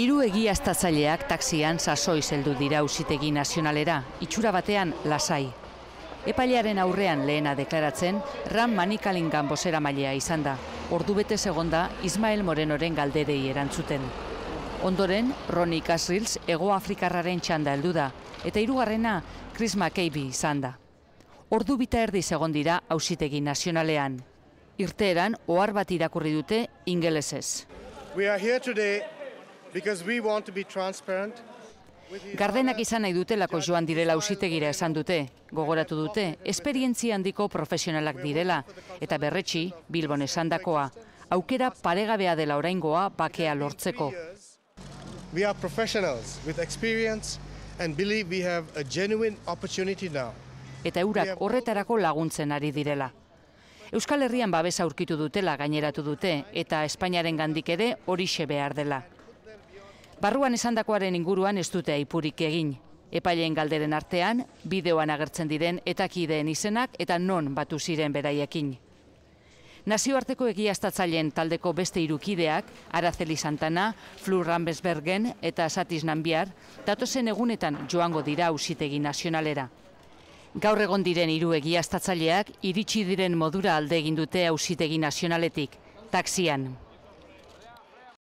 Hiru egiaztatzaileak taxian sasoiz heldu dira Auzitegi Nazionalera, itxura batean lasai. Epailearen aurrean lehena deklaratzen, Ram Manikalingan bozeramailea izan da. Ordubete segonda Ismael Morenoren galderei erantzuten. Ondoren, Ronnie Kasrils Hego Afrikarraren txanda heldu da, eta hirugarrena Chris McCabe izan da. Ordu bita erdi egon dira Auzitegi Nazionalean. Irteeran ohar bat irakurri dute ingelesez. Gardenak izan nahi dutelako joan direla auzitegira esan dute. Gogoratu dute, esperientzia handiko profesionalak direla, eta berretsi, Bilbon esandakoa, aukera paregabea dela oraingoa bakea lortzeko. We are professionals with experience and believe we have a genuine opportunity now. Eta eurak horretarako laguntzen ari direla. Euskal Herrian babesa aurkitu dutela gaineratu dute, eta Espainiaren gandik ere horixe behar dela. Barruan esandakoaren inguruan ez dute aipurik egin. Epaileen galderen artean, bideoan agertzen diren etakideen izenak eta non batu ziren beraiekin. Nazioarteko egiaztatzaileen taldeko beste hirukideak, Araceli Santana, Flur Rambesbergen eta Satis Nambiar, datozen egunetan joango dira Auzitegi Nazionalera. Gaur egon diren hiru egiaztatzaileak iritsi diren modura alde egin dute Auzitegi Nazionaletik, taxian.